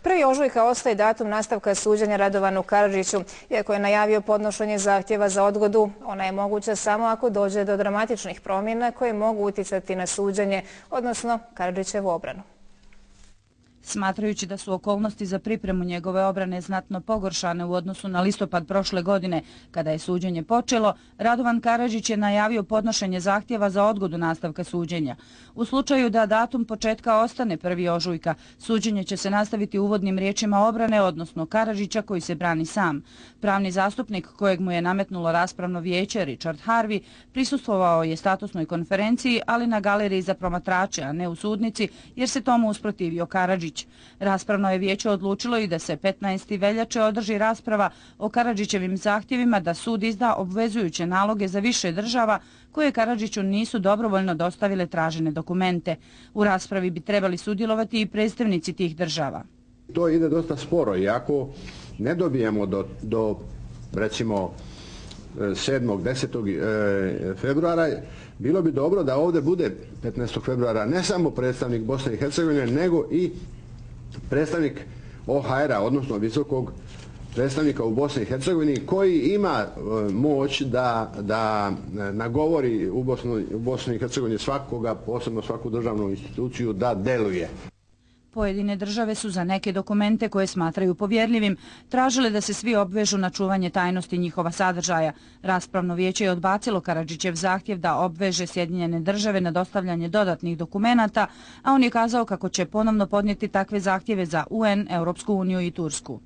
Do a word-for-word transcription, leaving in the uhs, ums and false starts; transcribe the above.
prvi ožujka ostaje datum nastavka suđenja Radovanu Karadžiću. Iako je najavio podnošenje zahtjeva za odgodu, ona je moguća samo ako dođe do dramatičnih promjena koje mogu utjecati na suđenje, odnosno Karadžićevu obranu. Smatrajući da su okolnosti za pripremu njegove obrane znatno pogoršane u odnosu na listopad prošle godine, kada je suđenje počelo, Radovan Karadžić je najavio podnošenje zahtjeva za odgodu nastavka suđenja. U slučaju da datum početka ostane prvi ožujka, suđenje će se nastaviti uvodnim riječima obrane, odnosno Karadžića koji se brani sam. Pravni zastupnik kojeg mu je nametnulo raspravno vijeće, Richard Harvey, prisustvovao je statusnoj konferenciji, ali na galeriji za promatrače, a ne u sudnici, jer se tomu usprotivio Karadžić. Raspravno je vijeće odlučilo i da se petnaestog veljače održi rasprava o Karadžićevim zahtjevima da sud izda obvezujuće naloge za više država koje Karadžiću nisu dobrovoljno dostavile tražene dokumente. U raspravi bi trebali sudjelovati i predstavnici tih država. To ide dosta sporo i ako ne dobijemo do, do recimo sedmog desetog februara, bilo bi dobro da ovdje bude petnaestog februara ne samo predstavnik Bosne i Hercegovine, nego i predstavnik O H R-a, odnosno visokog predstavnika u Bosni i Hercegovini, koji ima moć da, da nagovori u, Bosnu, u Bosni i Hercegovini svakoga, posebno svaku državnu instituciju, da deluje. Pojedine države su za neke dokumente koje smatraju povjerljivim tražile da se svi obvežu na čuvanje tajnosti njihova sadržaja. Raspravno vijeće je odbacilo Karadžićev zahtjev da obveže Sjedinjene države na dostavljanje dodatnih dokumenata, a on je kazao kako će ponovno podnijeti takve zahtjeve za U N, Europsku uniju i Tursku.